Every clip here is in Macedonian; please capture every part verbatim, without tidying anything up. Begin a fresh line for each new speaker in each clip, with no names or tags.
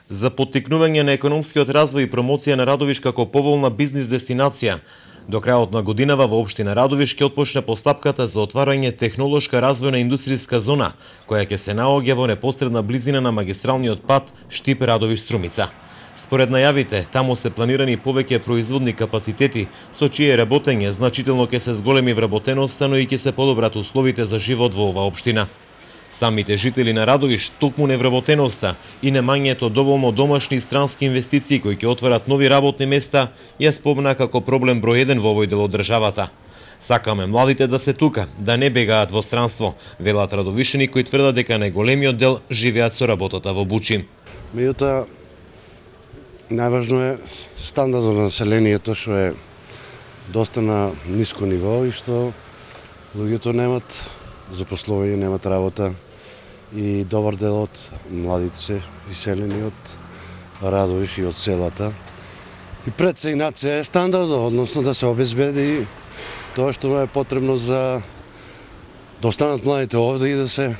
за поттикнување на економскиот развој и промоција на Радовиш како поволна бизнис дестинација. До крајот на годинава во општина Радовиш ќе отпочне постапката за отварање технолошка развојна индустријска зона, која ќе се наоѓа во непосредна близина на магистралниот пат Штип Радовиш-Струмица. Според најавите, таму се планирани повеќе производни капацитети, со чие работење значително ќе се зголеми вработеноста, но и ќе се подобрат условите за живот во оваа општина. Самите жители на Радовиш токму невработеноста и немањето доволно домашни и странски инвестиции кои ќе отварат нови работни места ја спомна како проблем број еден во овој дел од државата. Сакаме младите да се тука, да не бегаат во странство, велат радовишани кои тврдат дека најголемиот дел живеат со работата во Бучи.
Меѓутоа, најважно е стандардот на населението што е доста на ниско ниво и што луѓето немат запослување, немат работа и добар дел од младите се иселени од Радовиш и од селата. И пред се инаце е стандардот, односно да се обезбеди тоа што е потребно за да останат младите овде и да се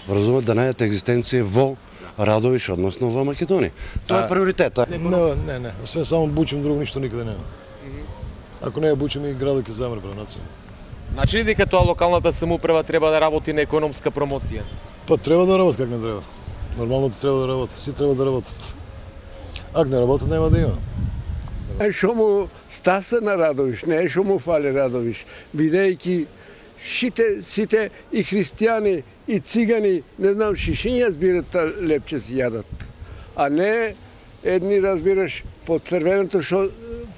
вразумат да најдат екзистенција во Радовиш, односно во Македонија. Тоа е приоритет.
Не, не, не. Освен само Бучим, друго ништо никаде нема. Ако не ја Бучим, и градот ќе замре пренација.
Значи ли дека тоа локалната самоуправа треба да работи на економска промоција?
Па треба да работи, как не треба. Нормално треба да работи, си треба да работат. Ако не работат, нема да има.
Е што му стаса на Радовиш, не е што му фали Радовиш, бидејќи сите, сите и христијани, и цигани, не знам, шишиња збират лепче си јадат. А не едни, разбираш, по црвеното шо,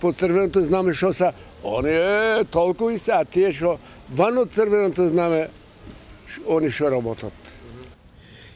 по црвеното знаме што са, они е толку и се, а тие што ван од црвеното знаме, они што работат.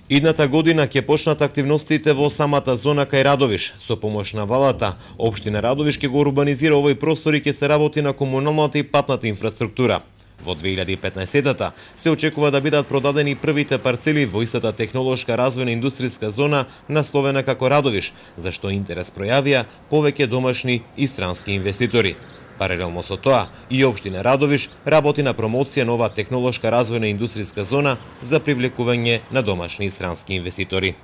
Идната година ќе почнат активностите во самата зона кај Радовиш. Со помош на валата, општина Радовиш ќе го урбанизира овој простор и ќе се работи на комуналната и патната инфраструктура. Во две илјади и петнаесетта се очекува да бидат продадени првите парцели во истата технолошка развојна индустријска зона насловена како Радовиш, за што интерес пројавија повеќе домашни и странски инвеститори. Паралелно со тоа, и општина Радовиш работи на промоција на оваа технолошка развојна индустријска зона за привлекување на домашни и странски инвеститори.